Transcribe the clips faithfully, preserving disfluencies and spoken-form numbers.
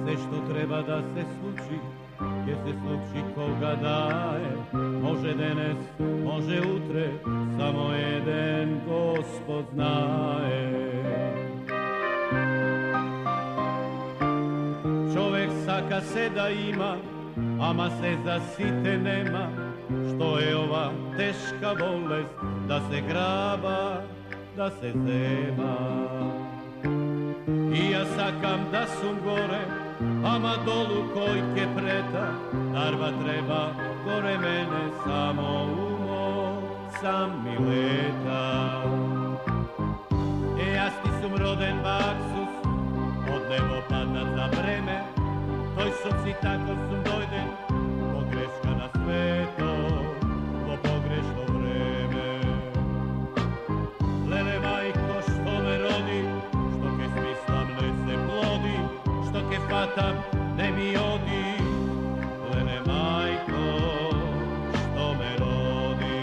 се што треба да се случи, ќе се случи кога да е. Може денес, може утре, само еден Господ знае. Човек сака се да има, ама се за сите нема. Што е ова тешка болест, да се граба, да се зема. И јас сакам да сум горе, ама долу кој ке прета. Дарба треба горе мене, само умо сам ми лета. Е, јас ти сум роден баксус, од небо паднат за време. Тој сум си тако сум дојден, погрешка на свето, во погрешно време. Леле мајко што ме роди, што ке смислам не се плоди, што ке фатам не ми оди. Леле мајко што ме роди.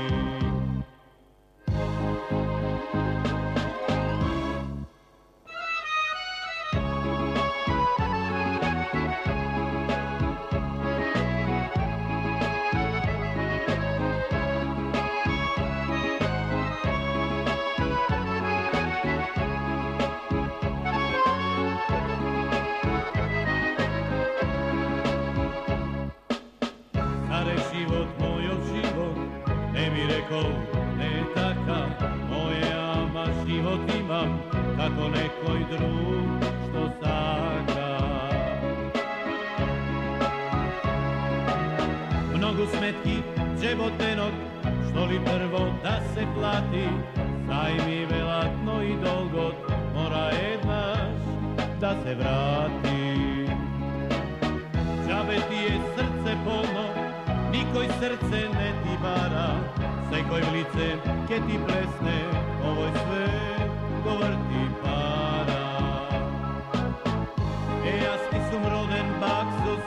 Не е така, моје, ама живот имам, како некој друг што сака. Многу сметки, джеботенок, што ли прво да се плати, зајми велатно и долгот, мора еднаш да се врати. Джабе ти е срце полно, никој срце не ти бара, секој в лице ке ти плесне, овој свет го врти пара. Е, јас ти сум роден баксус,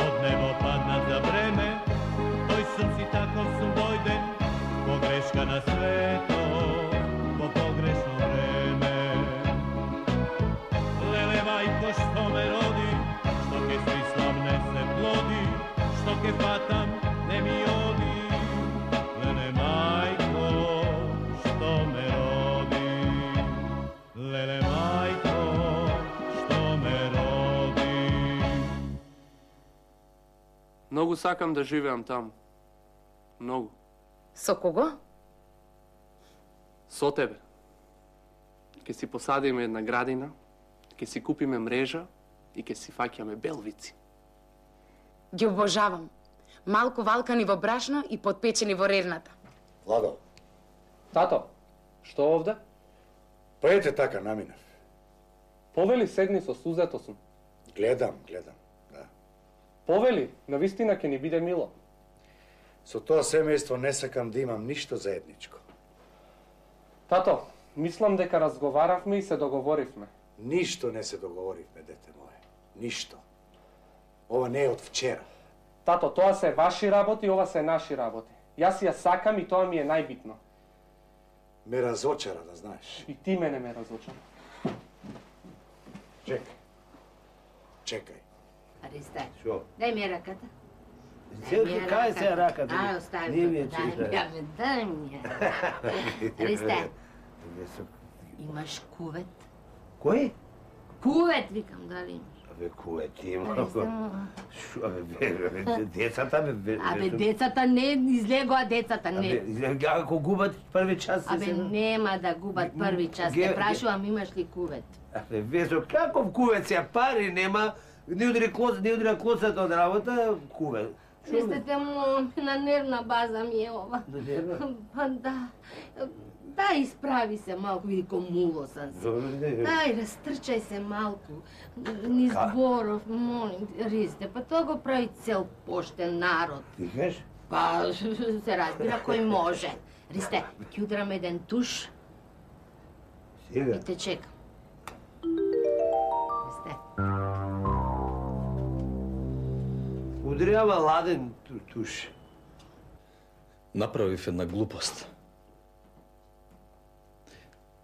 од небо паднат за време. Тој сум си таков сум дојден, погрешка на свето, во погрешно време. Леле мајко што ме роди, што ке смислам не се плоди, што ке фатам не ми оди. Леле мајко што ме роди, леле мајко што ме роди. Многу сакам да живеам таму. Многу. Со кого? Со тебе. Ке си посадиме една градина, ке си купиме мрежа и ке си фаќаме белвици. Ги обожавам. Малку валкани во брашно и подпечени во рерната. Владо. Тато, што овде? Па ете така наминав. Повели седни со сузето сум. Гледам, гледам, да. Повели, навистина ќе ни биде мило. Со тоа семејство не сакам да имам ништо заедничко. Тато, мислам дека разговаравме и се договоривме. Ништо не се договоривме, дете мое. Ништо. Ова не е од вчера. Тато, тоа се ваши работи, ова се наши работи. Јас ја сакам и тоа ми е најбитно. Ме разочара, да знаеш. И ти мене ме разочара. Чекај. Чекај. Аристе, Шо? дај ми раката. Селка, кај се раката? Ај, остави Не ми е дај чита. ми, ја ме, дај ми. Аристе, имаш кувет? Кој? Кувет, викам, дали имаш? Абе, кувет има. Аристе, Шо, абе, децата, бе... Абе, децата не излегоа, децата не. Абе, ако губат први час... Абе, нема да губат први час. Те прашувам, имаш ли кувет? Абе, Весо, каков кувет се, пари нема, не удри клоц, не удри клоцата од работа, кувет. Мислите му, на нервна база ми е ова. На нервна? Па да. Дај, исправи се малку, види комуло сам се. Дај, растрчај се малку. Низ зборов, молим, Ристе, па тоа го прави цел поштен народ. Ти кажеш? Па, се разбира кој може. Ристе, ќе удрам еден туш Сега? и те чекам. Ристе. Удрява ладен туш. Направив една глупост.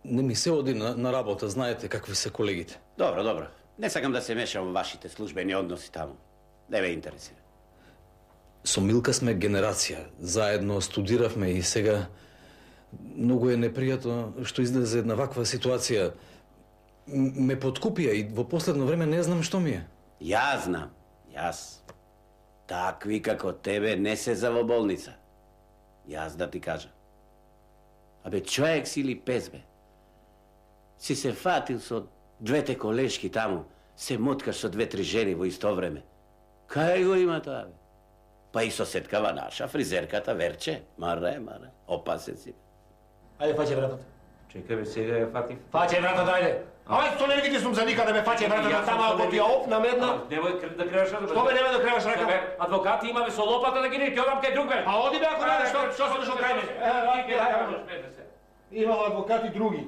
Не ми се оди на, на работа, знаете какви се колегите. Добро, добро. Не сакам да се мешам во вашите службени односи таму. Не ме интересира. Со Милка сме генерација. Заедно студиравме и сега многу е непријатно што излезе една ваква ситуација. Ме подкупија и во последно време не знам што ми е. Јас знам. Јас. Такви како тебе не се за во болница. Јас да ти кажам. Абе, човек си или пес, бе? Си се фатил со двете колешки таму, се моткаш со две-три жени во исто време. Кај го има тоа, бе? Па и соседкава наша, фризерката Верче. Маре, маре, опасен си. Ајде, фаќе вратата. Чекај, бе, сега ја фатив. Фаќе вратата, ајде. Ајде, што не видиш сум за никаде, ме фаќе вратата, тама ако ти ја опнам една. Немој да креваш рака. Што бе, немој да креваш рака? Адвокати имаме со лопата да ги не, ќе одам кај друг, бе. А оди бе, ако не, што што се дошол кај мене? Имало адвокати други.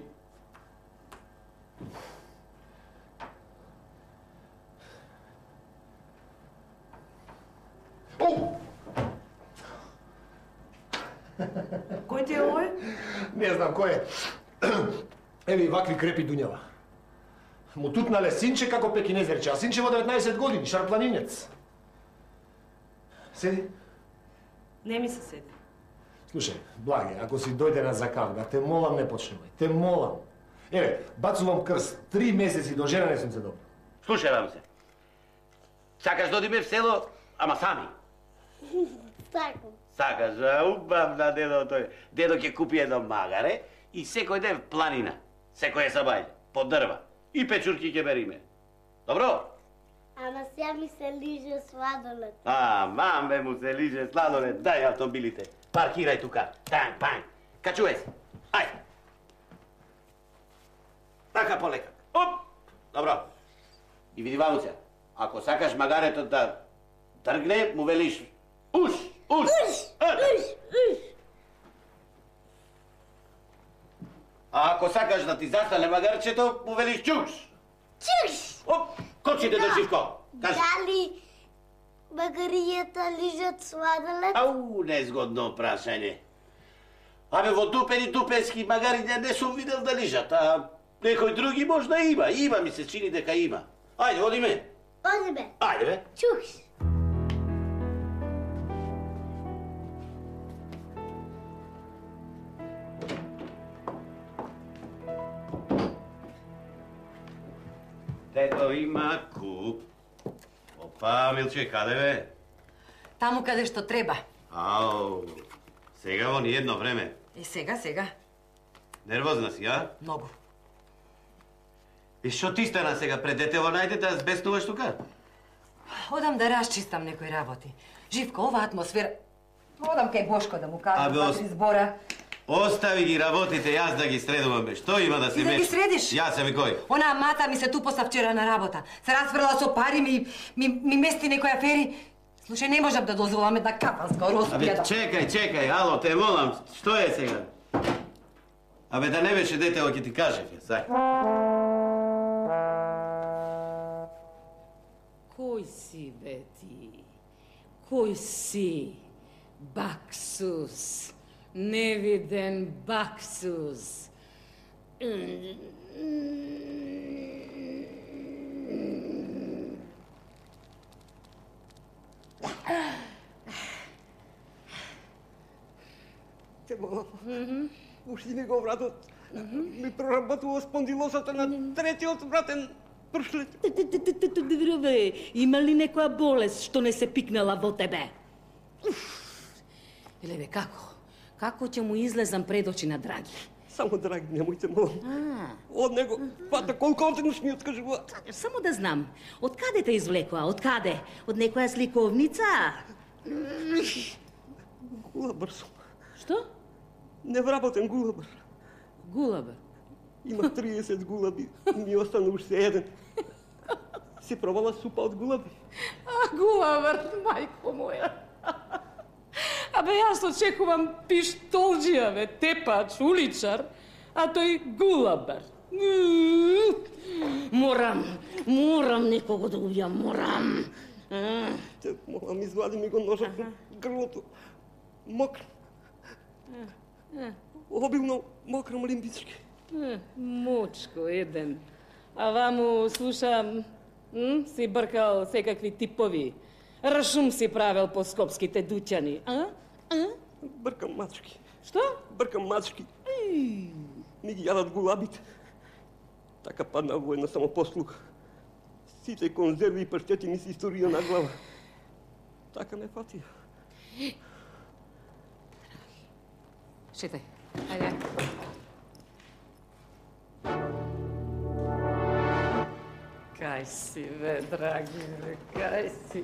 Кој ти е овој? Не знам кој е. Еви вакви крепи дуњава. Му тутнале синче како пекинезерче, а синче во деветнаесет години, шарпланинец. Седи. Не ми се седи. Слушај, Благе, ако си дојде на закавга, те молам не почнувај. Те молам. Еве, бацувам крст. Три месеци до жена не сум се добро. Слушај се. Сакаш да одиме в село, ама сами? Сакам. Сакаш, убавна дедо тој. Дедо ќе купи едно магаре и секој ден в планина. Секој е сабајле, по дрва. И печурки ќе бериме. Добро? Ама сега ми се лиже сладолед. А, мамбе му се лиже сладолед. Дај автомобилите. Паркирај тука. Танг, панг. Качувај се. Ајде. Така полека. Оп! Добро. И види ваму се. Ако сакаш магарето да тргне, му велиш уш, уш. Уш, уш, уш. А ако сакаш да ти застане магарчето, му велиш чуш. Чуш. Оп, кочите до Живко. Кажи. Дали магаријата лижат сладолед? Ау, незгодно прашање. Абе, во дупени дупенски магариња не сум видел да лижат, а некој други можда има. Има, ми се чини дека има. Ајде, одиме. Одиме. Ајде, бе. Чуш. Дедо има куп. Опа, Милче, каде бе? Таму каде што треба. Ау, сега во ни едно време. И сега, сега. Нервозна си, а? Многу. И што ти стана сега пред детево најде да збеснуваш тука? Одам да расчистам некои работи. Живко, ова атмосфера... Одам кај Бошко да му кажам Абе, два-три ос- збора. Остави ги работите, јас да ги средувам, бе. Што има да се Ти да ги меш? средиш? Јас сам и кој? Онаа мата ми се тупоса вчера на работа. Се расфрла со пари, ми, ми, ми мести некои афери. Слушај, не можам да дозволам една капанска Абе, роспија да... чекај, чекај, ало, те молам, што е сега? Абе, да не беше детево, ќе ти кажев, јас, ај. Кој си, бе, ти? Кој си? Баксус. Невиден Баксус. Те молам. Уште ми го вратот. Ми проработува спондилозата на третиот вратен пршлет. Бе, има ли некоја болест што не се пикнала во тебе? Еле бе, како? Како ќе му излезам пред очи на Драги? Само Драги, немојте молам. Од него пата колку отеднаш ми откажува. Само да знам, од каде те извлекоа? Од каде? Од некоја сликовница? Гулабар сум. Што? Невработен гулабар. Гулабар? Има триесет гулаби, ми остана уште еден. Си пробала супа од гулаби? А, гулабар, мајко моја. Абе, јас очекувам пиштолџија, бе, тепач, уличар, а тој гулабар. Морам, морам некого да убијам, морам. Те молам, извади ми го ножот на грлото. Мокро. Обилно мокро лимбички. Мочко еден. А ваму слушам М? Си бркал секакви типови. Рашум си правил по скопските дуќани, а? А? Бркам мачки. Што? Бркам мачки. Ми ги јадат гулабите. Така падна во една самопослуга. Сите конзерви и паштети ми се историја на глава. Така ме фатија. Шетај, ајде. Кај си, бе, драги, бе, кај си?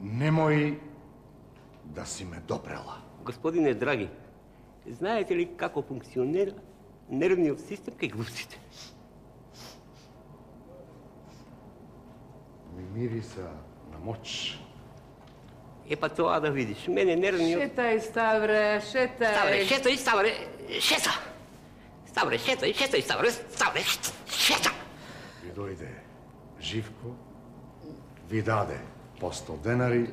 Немој да си ме допрела. Господине драги, знаете ли како функционира нервниот систем кај глупците? Ми мириса на моќ. Е, па тоа да видиш. Мене нервниот... Шетај, Ставре, шетај. Ставре, шетај, Ставре, шета. Ставре, шетај, шетај, Ставре, Ставре, шета. Ви дојде Живко, ви даде по сто денари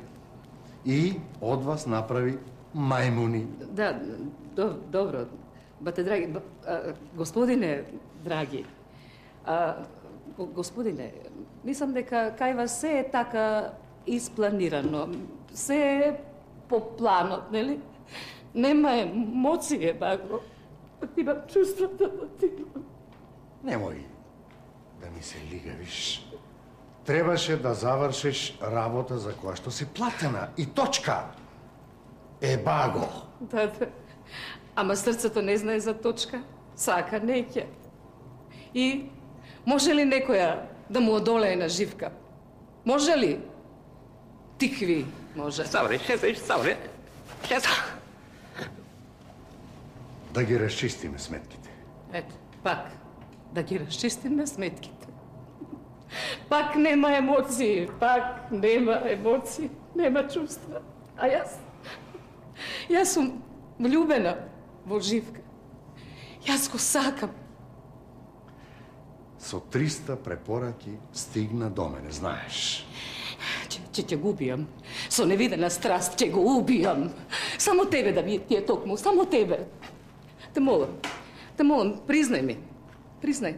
и од вас направи мајмуни. Да, до, добро. Бате, драги, ба, а, господине, драги, а, го, господине, мислам дека кај вас се е така испланирано, се е по планот, нели? Нема емоции, баго. Имам чувството да ти... Немој да ми се лигавиш. Требаше да завршиш работа за која што си платена. И точка. Е, баго. Да, да. Ама срцето не знае за точка. Сака, неќе. И може ли некоја да му одолее на Живка? Може ли? Тикви, може. Ставре, шетај, Ставре, шета. Да ги расчистиме сметките. Ето, пак, да ги расчистиме сметките. Пак нема емоции, пак нема емоции, нема чувства. А јас, јас сум влюбена во Живка. Јас го сакам. Со триста препораки стигна до мене, знаеш. Че, че ќе го убијам. Со невидена страст ќе го убијам. Само тебе да ми ти е токму, само тебе. Те молам, те молам, признај ми. Признај.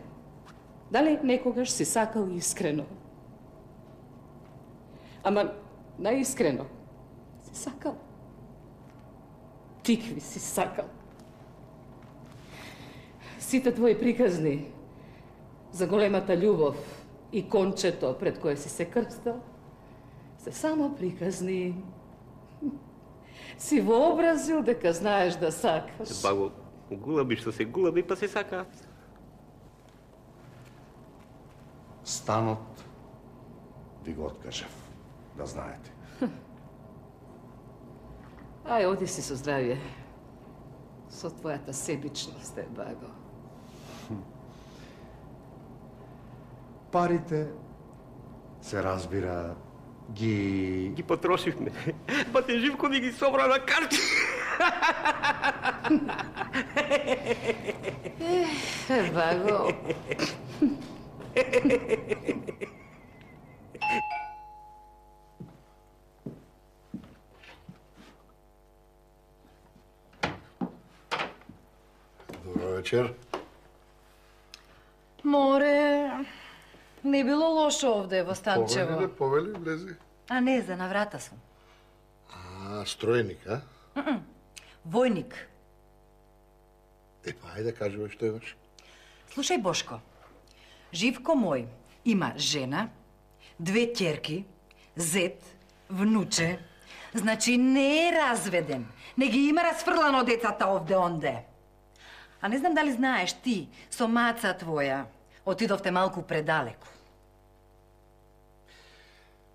Дали некогаш си сакал искрено? Ама наискрено си сакал. Тикви си сакал. Сите твои приказни за големата љубов и кончето пред кое си се крстал се само приказни. Си вообразил дека знаеш да сакаш. Баго, гулаби што се гулаби, па се сакаат. Станот ви го откажав, да знаете. Ај, оди си со здравје. Со твојата себичност, е, Баго. Парите, се разбира, ги... Ги потрошивме. Па те Живко ни ги собра на карти. Е, Баго. Добро вечер. Море, не било лошо овде во Станчево. Повели, повели, влези. А не, за на врата сум. А, строеник, а? Mm-mm. Војник. Е, па, ајде, кажи бе, што имаш? Слушај, Бошко, Живко мој има жена, две ќерки, зет, внуче, значи не е разведен, не ги има расфрлано децата овде-онде. А не знам дали знаеш ти, со маца твоја, отидовте малку предалеку.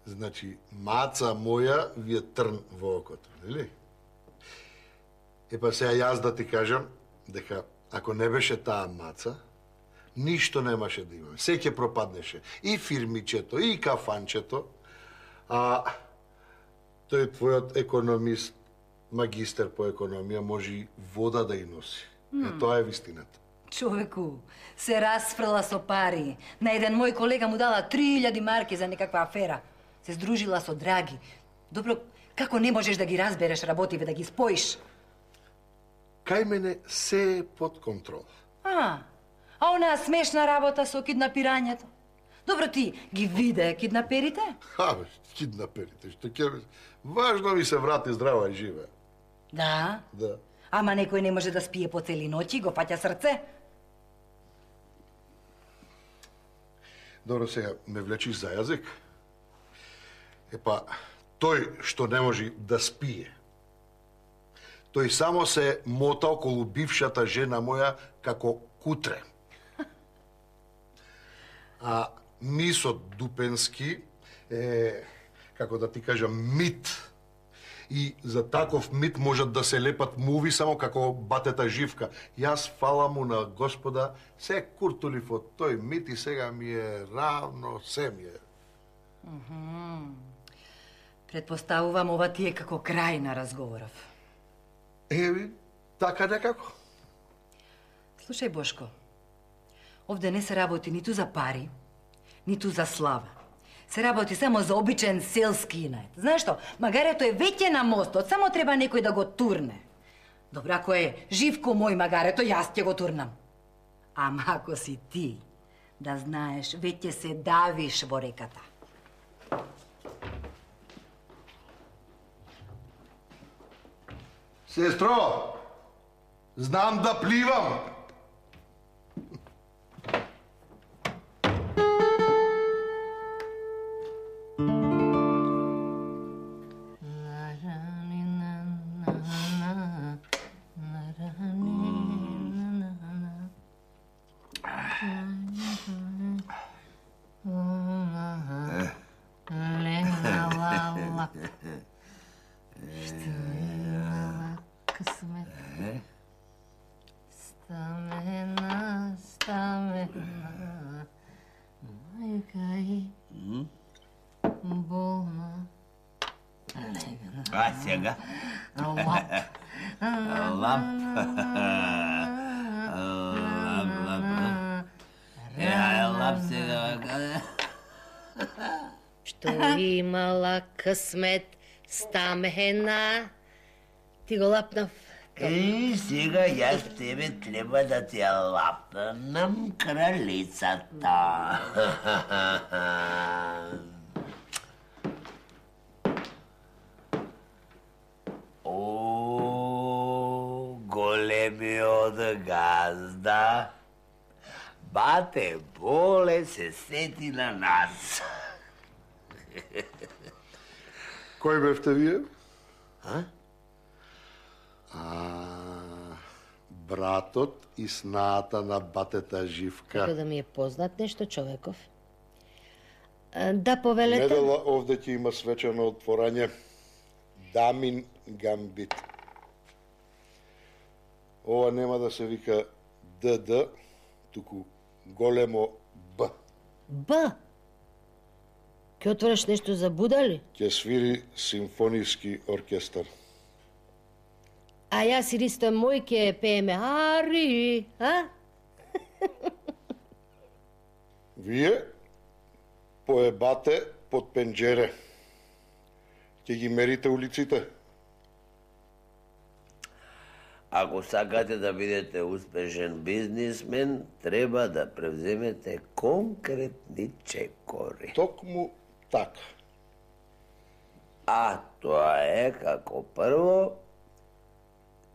Значи, маца моја ви е трн во окото, нели? Епа сега јас да ти кажам дека ако не беше таа маца, ништо немаше да имаме. Се ќе пропаднеше. И фирмичето, и кафанчето. А тој твојот економист, магистер по економија, може и вода да и носи. Mm. Е, тоа е вистината. Човеку, се расфрла со пари. На еден мој колега му дала три илјади марки за некаква афера. Се здружила со Драги. Добро, како не можеш да ги разбереш работиве, да ги споиш? Кај мене се е под контрол. А, а онаа смешна работа со киднапирањето? Добро, ти ги виде киднаперите? Абе, киднаперите, што ќе... Важно ми се врати здрава и живе. Да? Да. Ама некој не може да спие по цели ноќи, го фаќа срце. Добро, сега ме влечиш за јазик. Епа, тој што не може да спие, тој само се мота околу бившата жена моја како кутре. А Мисо Дупенски е, како да ти кажам, мит. И за таков мит можат да се лепат муви само како батета Живка. Јас фала му на Господа, се куртулив од тој мит и сега ми е равно, се ми е. Мгм. Предпоставувам ова ти е како крај на разговоров. Еви, така некако. Слушај, Бошко, овде не се работи ниту за пари, ниту за слава. Се работи само за обичен селски инет. Знаеш што, магарето е веќе на мостот, само треба некој да го турне. Добро, ако е Живко мој магарето, јас ќе го турнам. Ама ако си ти, да знаеш, веќе се давиш во реката. Сестро, знам да пливам. Стамена, стамена, мајка и болна. А сега? Лап. Лап. Лап, лап. Е, лап сега. Што имала късмет, стамена, ти го лапнав. Е, сега јас тебе треба да ти ја лапнам кралицата. О, големиот газда, бате Боле се сети на нас. Кој бевте вие? А? А, братот и снаата на батета Живка. Како да ми е познат нешто човеков. А, да, повелете. Недела овде ќе има свечено отворање Дамин Гамбит. Ова нема да се вика ДД, туку големо Б. Б? Ке отвориш нешто за будали? Ќе свири симфониски оркестар. А јас и Ристо мој ке пееме Ари, а? Вие поебате под пенџере. Ќе ги мерите улиците. Ако сакате да бидете успешен бизнисмен, треба да превземете конкретни чекори. Токму така. А тоа е како прво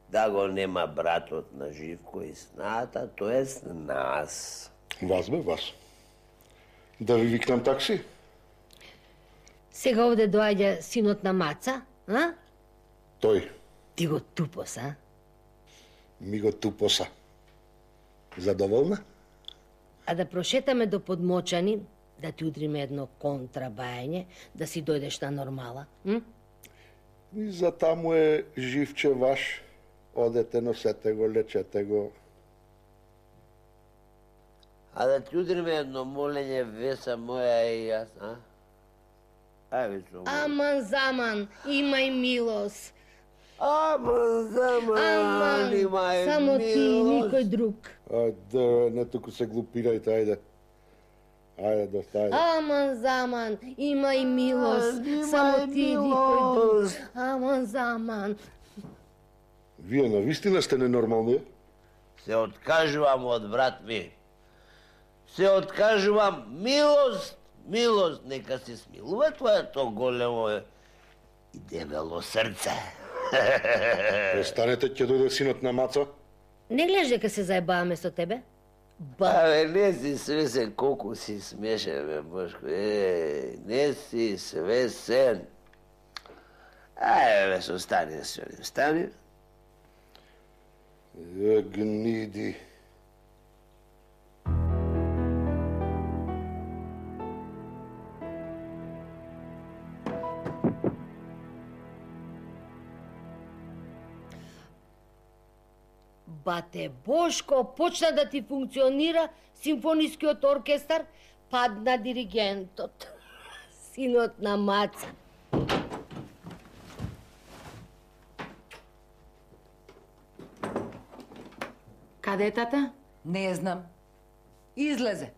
да го нема братот на Живко и снаата, тоест нас. Вас бе, вас. Да ви викнам такси? Сега овде доаѓа синот на Маца, а? Тој. Ти го тупос, а? Ми го тупоса. Задоволна? А да прошетаме до Подмочани, да ти удриме едно контрабајање, да си дојдеш на нормала, м? И за таму е живче ваш. Одете, носете го, лечете го. А да ти удриме едно молење, Веса моја и јас, а? Ајде со го. Аман заман, имај милост. Аман заман, Аман, имај само ти и милост. никој друг. Ајде, не туку се глупирајте, ајде. Ајде, доста, ајде. Аман заман, имај милост, само ти и никој друг. Аман заман. Вие навистина сте ненормални? Се откажувам од брат ми. се откажувам милост, милост, нека се смилува твоето големо и дебело срце. Престанете, ќе дојде синот на Маца? Не гледаш дека се заебаваме со тебе? Абе, не си свесен колку си смешен, бе, Бошко. Е, не си свесен. Ајде, бе, со стани да се одим. Стани. Е, гниди. Бате Бошко, почна да ти функционира симфонискиот оркестар, падна диригентот, синот на Маца. Каде е тата? Не знам. Излезе.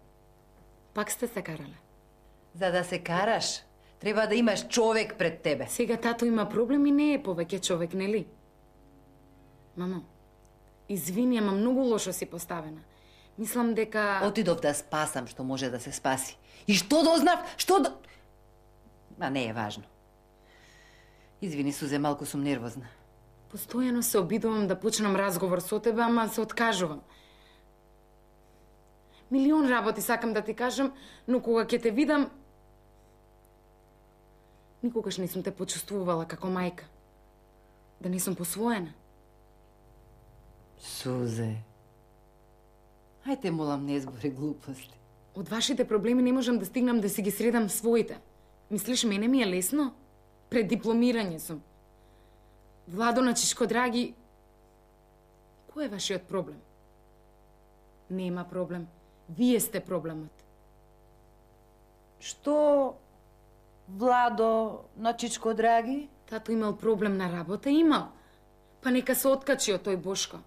Пак сте се карале? За да се караш, треба да имаш човек пред тебе. Сега тато има проблем и не е повеќе човек, нели? Мамо, извини, ама многу лошо си поставена. Мислам дека... Отидов да спасам што може да се спаси. И што дознав? Што до... Ма не е важно. Извини, Сузе, малку сум нервозна. Постојано се обидувам да почнам разговор со тебе, ама се откажувам. Милион работи сакам да ти кажам, но кога ќе те видам... Никогаш не сум те почувствувала како мајка. Да не сум посвоена. Сузе. Ајте, молам, не збори глупости. Од вашите проблеми не можам да стигнам да си ги средам своите. Мислиш, мене ми е лесно? Пред дипломирање сум. Владо Начичко, драги, кој е вашиот проблем? Нема проблем. Вие сте проблемот. Што, Владо Начичко, драги? Тато имал проблем на работа, имал. Па нека се откачи од тој Бошко.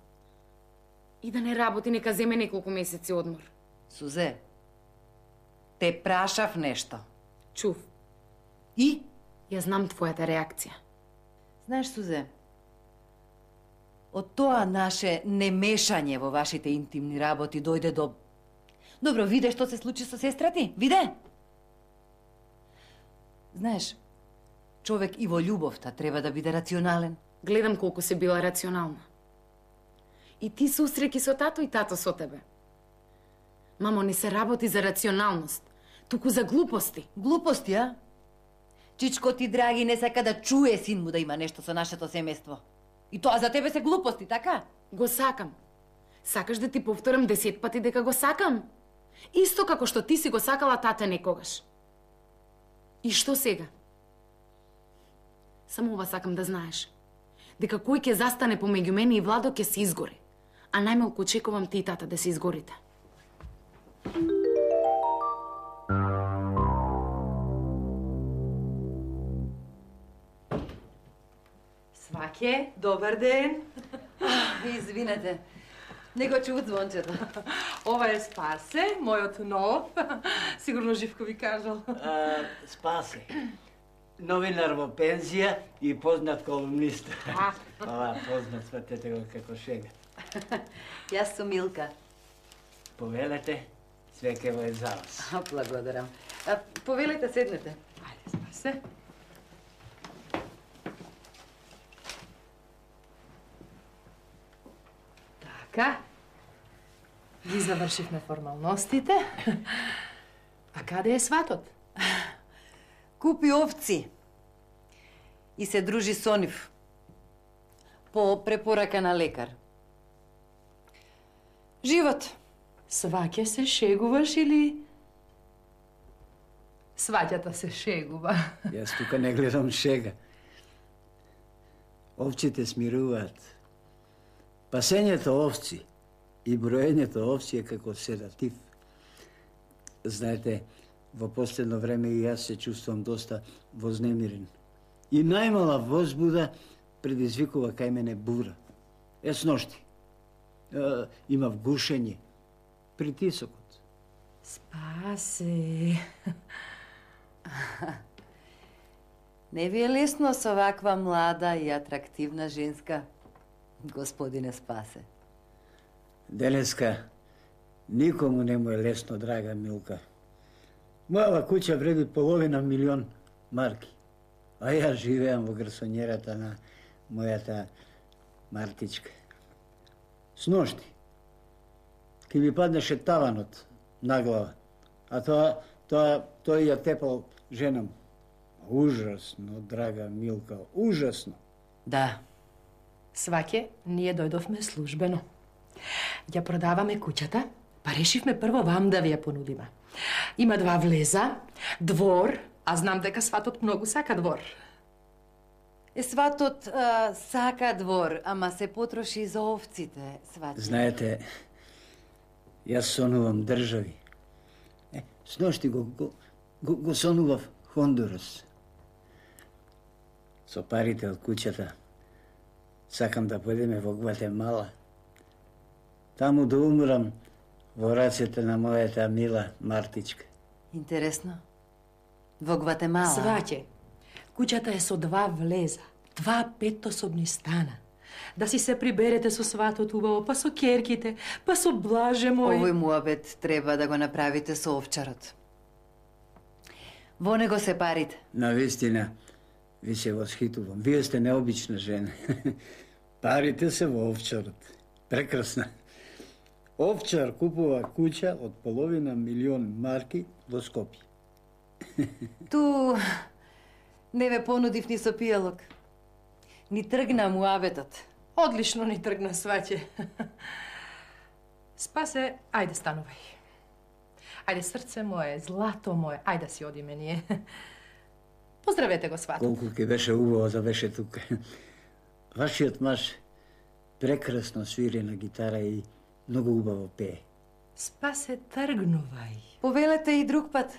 И да не работи, нека земе неколку месеци одмор. Сузе, те прашав нешто. Чув. И? Ја знам твојата реакција. Знаеш, Сузе, од тоа наше немешање во вашите интимни работи дојде до... Добро, виде што се случи со сестра ти? Виде? Знаеш, човек и во љубовта треба да биде рационален. Гледам колку се била рационална. И ти се усреќи со тато и тато со тебе. Мамо, не се работи за рационалност, туку за глупости. Глупости, а? Чичко ти, драги, не сака да чуе син му да има нешто со нашето семејство. И тоа за тебе се глупости, така? Го сакам. Сакаш да ти повторам десет пати дека го сакам? Исто како што ти си го сакала тата некогаш. И што сега? Само ова сакам да знаеш. Дека кој ќе застане помеѓу мене и Владо ќе се изгори. А најмалку очекувам ти и тата да се изгорите. Сваќе, добар ден. Извинете, не го чув звончето. Ова е Спасе, мојот нов. Сигурно Живко ви кажал. А, Спасе. Новинар во пензија и познат колумнист. Ова, познат, сватете го како шега. Јас сум Милка. Повелете, свекево е за вас. Благодарам. А, повелете, седнете. Ајде, Спасе. Така. Ги завршивме формалностите. А каде е сватот? Купи овци и се дружи со нив по препорака на лекар. Живот. Сваќе се шегуваш или... Сваќата се шегува. Јас тука не гледам шега. Овците смируваат. Пасењето овци и броењето овци е како седатив. Знаете, во последно време и јас се чувствувам доста вознемирен. И најмала возбуда предизвикува кај мене бура. Е, сношти. Е, имав гушење, притисокот. Спасе. Не ви е лесно со ваква млада и атрактивна женска, господине Спасе. Денеска Никому не му е лесно, драга Милка. Мојава куќа вреди половина милион марки. А ја живеам во гарсонјерата на мојата Мартичка. Сношти ки ми паднеше таванот на глава, а тоа, тоа, тој ја тепал женам. Ужасно, драга Милка, ужасно. Да. Сваќе, ние дојдовме службено. Ја продаваме куќата, па решивме прво вам да ви ја понудиме. Има два влеза, двор, а знам дека сватот многу сака двор. Е, сватот а, сака двор, ама се потроши за овците, сваќа. Знаете, јас сонувам држави. Е, сношти го, го, го, го сонував Хондурас. Со парите од куќата сакам да појдеме во Гватемала. Таму да умрам во рацете на мојата мила Мартичка. Интересно. Во Гватемала? Сваќе, куќата е со два влеза, два петособни стана. Да си се приберете со сватот убаво, па со керките, па со блаже мој. Овој муабет треба да го направите со овчарот. Во него се парите. Навистина, ви се восхитувам. Вие сте необична жена. Парите се во овчарот. Прекрасна. Овчар купува куќа од половина милион марки во Скопје. Ту не ве понудив ни со пијалок. Ни тргна муабетот. Одлично ни тргна, сваќе. Спасе, ајде станувај. Ајде, срце мое, злато мое, ајде си одиме ние. Поздравете го сватот. Колку ке беше убаво да беше тука. Вашиот маж прекрасно свири на гитара и многу убаво пее. Спасе, тргнувај. Повелете и друг пат.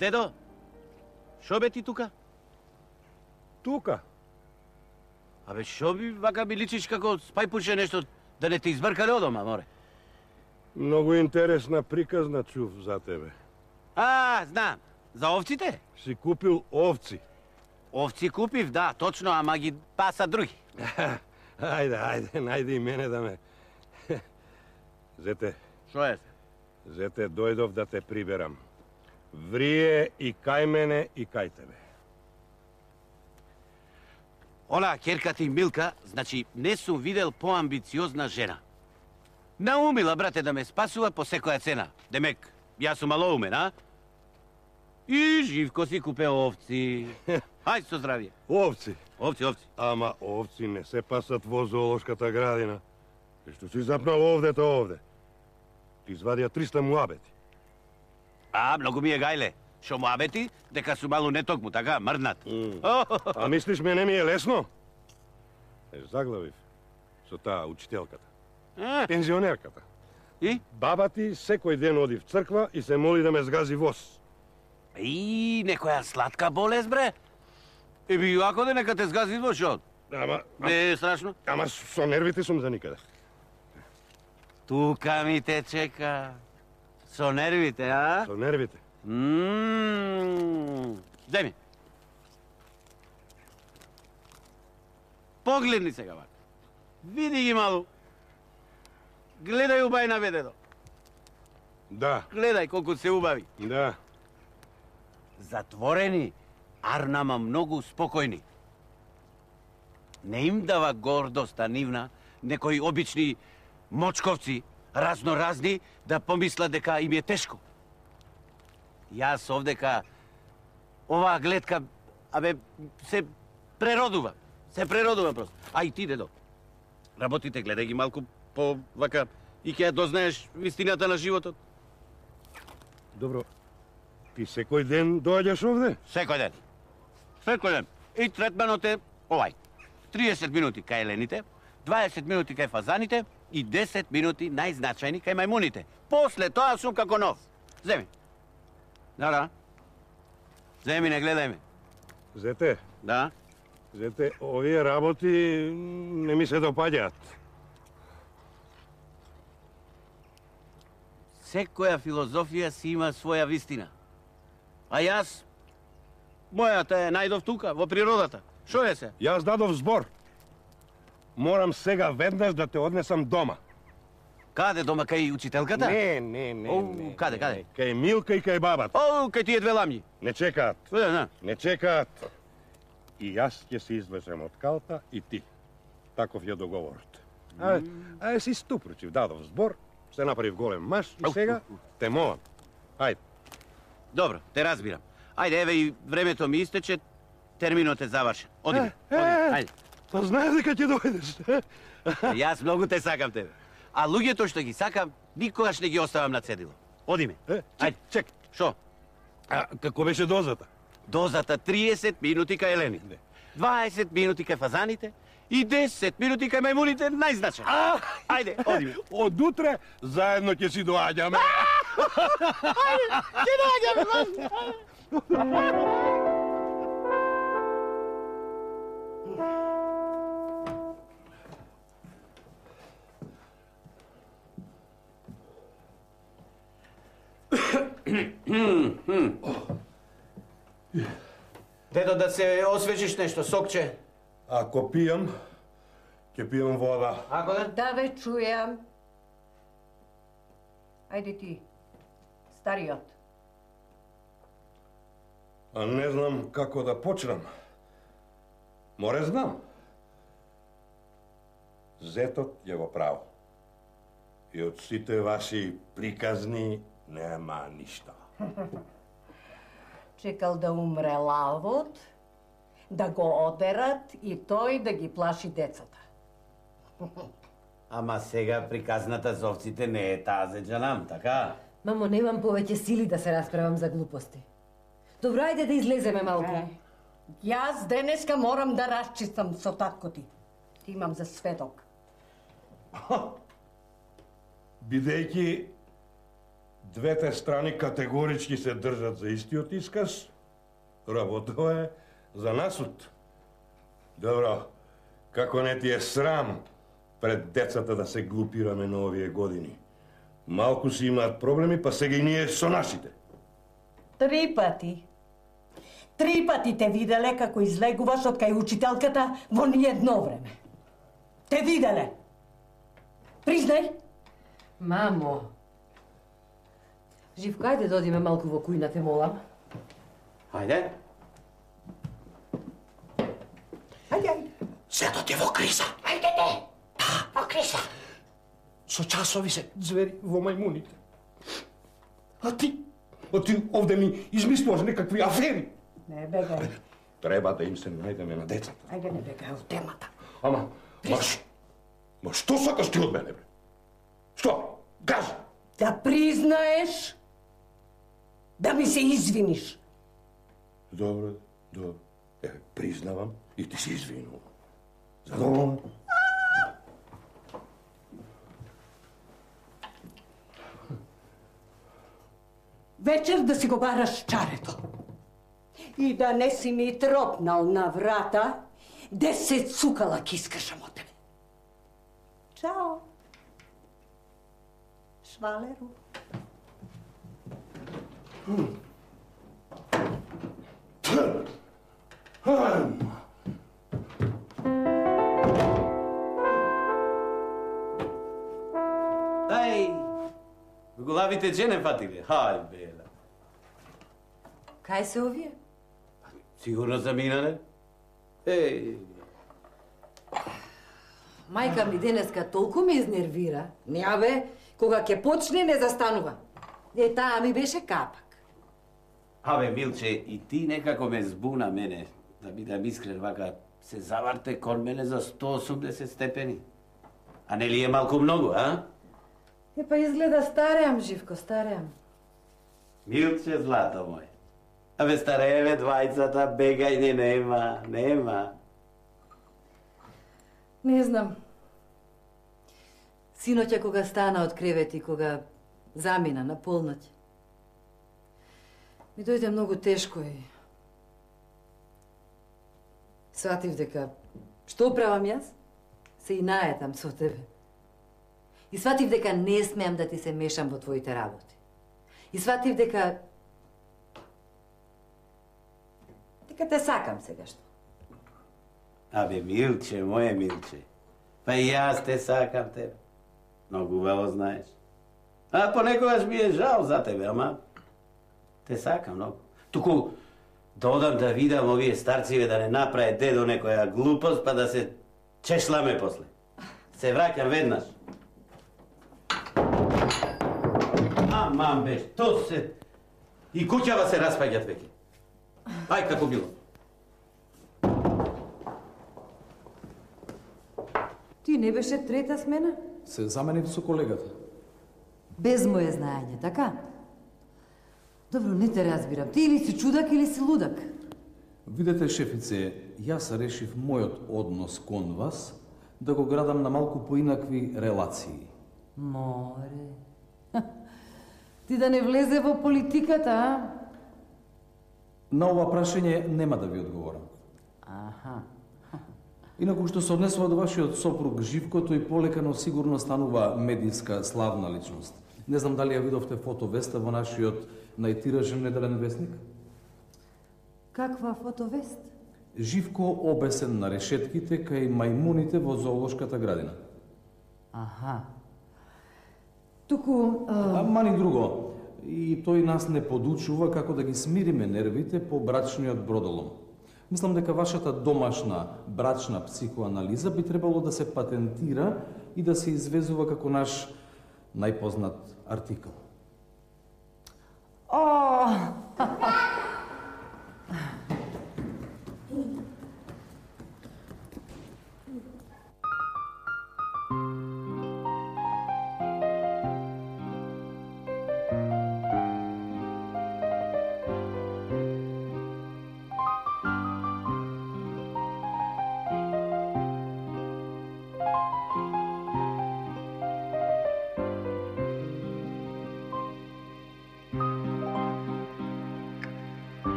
Дедо, шо бе ти тука? Тука? Абе, шо би вака ми личиш како спајпуше нешто да не те избркале од дома, море? Многу интересна приказна чув за тебе. А, знам. За овците? Си купил овци. Овци купив, да, точно, ама ги паса други. Ајде, ајде, најди и мене да ме... Зете. Шо е? Зете, дојдов да те приберам. Врие и кај мене и кај тебе. Ола, керката и Милка, значи, не сум видел поамбициозна жена. Наумила, брате, да ме спасува по секоја цена. Демек, јас сум малоумен, а? И Живко си купе овци. Хај со здравје. Овци? Овци, овци. Ама овци не се пасат во зоолошката градина. И што си запнал овде, то овде. Ти извадија триста муабети. А, многу ми е гајле. Шо муабети, дека су малу не токму, така, мрднат. Mm. А мислиш мене ми е лесно? Е, заглавив со таа учителката. А? Пензионерката. И? Баба ти секој ден оди в црква и се моли да ме сгази воз. И, некоја сладка болест, бре? Еби, ако да нека те сгази воз, шо? Ама... Не е страшно? Ама со нервите сум за никаде. Тука ми те чека. Со нервите, а? Со нервите. Ммм. Дај ми. Погледни сега, вака. Види ги малу. гледај убајна бе, дедо. Да. Гледај колку се убави. Да. Затворени, Арнама многу спокојни. Не им дава гордоста нивна, некои обични мочковци, разноразни, да помислат дека им е тешко. Јас овдека, оваа гледка, абе, се преродува. Се преродува просто. А и ти, дедо, работите, гледај ги малку по вака и ќе ја дознаеш вистината на животот. Добро, ти секој ден доаѓаш овде? Секој ден. Секој ден. И третманот е овај. триесет минути кај елените, дваесет минути кај фазаните и десет минути најзначајни кај мајмуните. После тоа сум како нов. Земи. Да, да. Земи, не гледај ме. Зете? Да? Зете, овие работи не ми се допаѓаат. Секоја филозофија си има своја вистина. А јас, мојата е најдов тука, во природата. Шо е се? Јас дадов збор. Морам сега веднаш да те однесам дома. Каде дома, кај учителката? Не, не, не. О, не. каде, каде? Кај Милка и кај бабата. О, кај тие две ламји. Не чекаат. Не, не. Не чекаат. И јас ќе се излезем од калта и ти. Таков е договорот. А, а си ступрочив, дадов збор, се направив голем маж и сега те молам. Ајде. Добро, те разбирам. Ајде, еве и времето ми истече, терминот е завршен. Одиме, одиме, ајде. Па знаеш дека ќе дојдеш. Јас многу те сакам тебе. А луѓето што ги сакам, никогаш не ги оставам на цедило. Одиме. Ајде, чек. Шо? А како беше дозата? Дозата триесет минути кај елените, дваесет минути кај фазаните и десет минути кај мајмуните најзначајни. Ајде, одиме. Од утре заедно ќе си доаѓаме. Ајде, ќе доаѓаме, Дедо, да се освежиш нешто, сокче. Ако пијам, ќе пијам вода. Ако да? Да ве чујам. Ајде ти, стариот. А не знам како да почнам. Море знам. Зетот е во право. И од сите ваши приказни нема ништо. Чекал да умре лавот, да го одерат и тој да ги плаши децата. Ама сега приказната за овците не е таа за джанам, така? Мамо, немам повеќе сили да се расправам за глупости. Добро, ајде да излеземе малку. Е, јас денеска морам да расчистам со татко ти. Ти имам за сведок. Бидејќи двете страни категорички се држат за истиот исказ, работа е за насуд. Добро, како не ти е срам пред децата да се глупираме на овие години. Малку си имаат проблеми, па сега и ние со нашите. Три пати. Три пати те виделе како излегуваш од кај учителката во ниедно време. Те виделе. Признај. Мамо. Живко, ајде да одиме малку во кујна, те молам. Ајде. Ајде, ајде. Светот е во криза. Ајде те. Да, во криза. Со часови се звери во мајмуните. А ти? А ти овде ми измислуваш некакви афери. Не бегај. Треба да им се најдеме на децата. Ајде не бегај од темата. Ама, маш, ма што сакаш ти од мене, бре? Што? Кажи! Да признаеш, да ми се извиниш. Добро, добро. Е, признавам и ти се извинувам. Задоволен? Вечер да си го бараш чарето. И да не си ми тропнал на врата, десет цукала кискашам од тебе. Чао. Швалеру. малите джене фатиле. Хај, бела. Кај се овие? Сигурно заминале? Еј. Мајка ми денеска толку ме изнервира. Не, абе, кога ќе почне не застанува. Е, таа ми беше капак. Абе, Милче, и ти некако ме збуна мене. Да бидам искрен, вака се заварте кон мене за сто осумдесет степени. А не ли е малку многу, а? Е, па изгледа стареам, Живко, стареам. Милче, злато мој. Абе, старееве двајцата, бегајне нема, нема. Не знам. Синоќа кога стана од кревет и кога замина на полноќ, ми дојде многу тешко и сватив дека што правам јас? Се и наетам со тебе. И сватив дека не смеам да ти се мешам во твоите работи. И сватив дека дека те сакам сега што. Абе, Милче, моje Милче, па и јас те сакам тебе. Многу убаво знаеш. А понекогаш ми е жал за тебе, ама те сакам многу. Туку да одам да видам овие старциве да не направи дедо некоја глупост, па да се чешламе после. Се враќам веднаш. Аман беш, то се... И куќава се распаѓат веќе. Ај како било. Ти не беше трета смена? Се заменив со колегата. Без моје знаење, така? Добро, не те разбирам. Ти или си чудак или си лудак? Видете, шефице, јас решив мојот однос кон вас да го градам на малку поинакви релации. Море. Ти да не влезе во политиката, а? На ова прашање нема да ви одговорам. Аха. Инаку што се однесува до вашиот сопруг Живко, тој полека, но сигурно станува медиска славна личност. Не знам дали ја видовте фотовеста во нашиот најтиражен неделен весник? Каква фотовест? Живко обесен на решетките кај мајмуните во зоолошката градина. Аха. Туку... А, мани друго. И тој нас не подучува како да ги смириме нервите по брачниот бродолом. Мислам дека вашата домашна брачна психоанализа би требало да се патентира и да се извезува како наш најпознат артикл. О!